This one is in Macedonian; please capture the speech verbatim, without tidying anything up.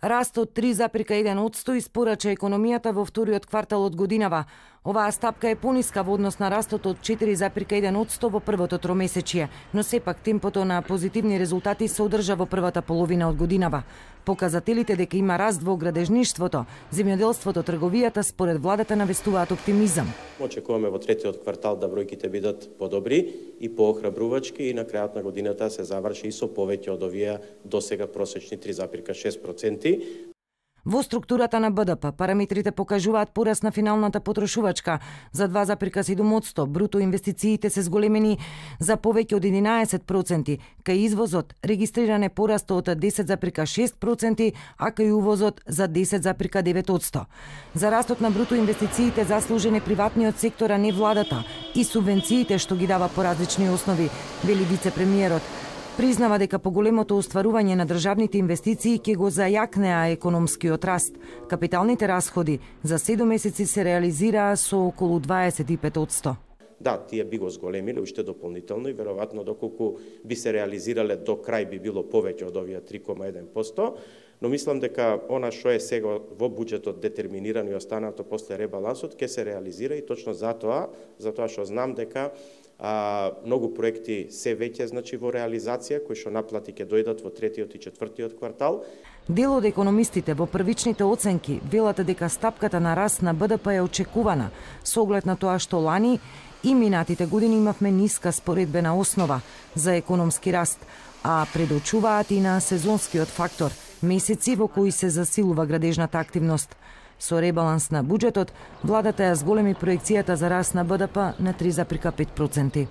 Раст од три запирка еден одсто испорача економијата во вториот квартал од годинава. Оваа стапка е пониска во однос на растот од четири запирка еден одсто во првото тромесечие, но сепак темпото на позитивни резултати се одржа во првата половина од годинава. Показателите дека има раст во градежништвото, земјоделството, трговијата според владата навестуваат оптимизам. Очекуваме во третиот квартал да бројките бидат подобри и поохрабрувачки и на крајот на годината се заврши и со повеќе од овие досега просечни три запирка шест проценти. Во структурата на Б Д П параметрите покажуваат пораст на финалната потрошувачка за два запирка седум одсто, бруто инвестициите се зголемени за повеќе од единаесет проценти, кај извозот регистриран е пораст од десет запирка шест проценти, а кај увозот за десет запирка девет одсто. За растот на бруто инвестициите заслужен е приватниот сектор, а не владата, и субвенциите што ги дава по различни основи, вели вице-премиерот. Признава дека поголемото остварување на државните инвестиции ќе го зајакнеа економскиот раст. Капиталните расходи за седум месеци се реализираа со околу дваесет и пет одсто. Да, тие би го зголемиле уште дополнително и веројатно доколку би се реализирале до крај би било повеќе од овие три кoma еден проценти, но мислам дека она што е сега во буџетот детерминирано и останато после ребалансот ќе се реализира и точно затоа, затоа што знам дека а, многу проекти се веќе значи во реализација кои што наплати ќе дојдат во третиот и четвртиот квартал. Дел од економистите во првичните оценки велат дека стапката на раст на Б Д П е очекувана со оглед на тоа што лани и минатите години имавме ниска споредбена основа за економски раст, а предочуваат и на сезонскиот фактор, месеци во кои се засилува градежната активност. Со ребаланс на буџетот, владата ја зголеми проекцијата за раст на Б Д П на три запирка пет проценти.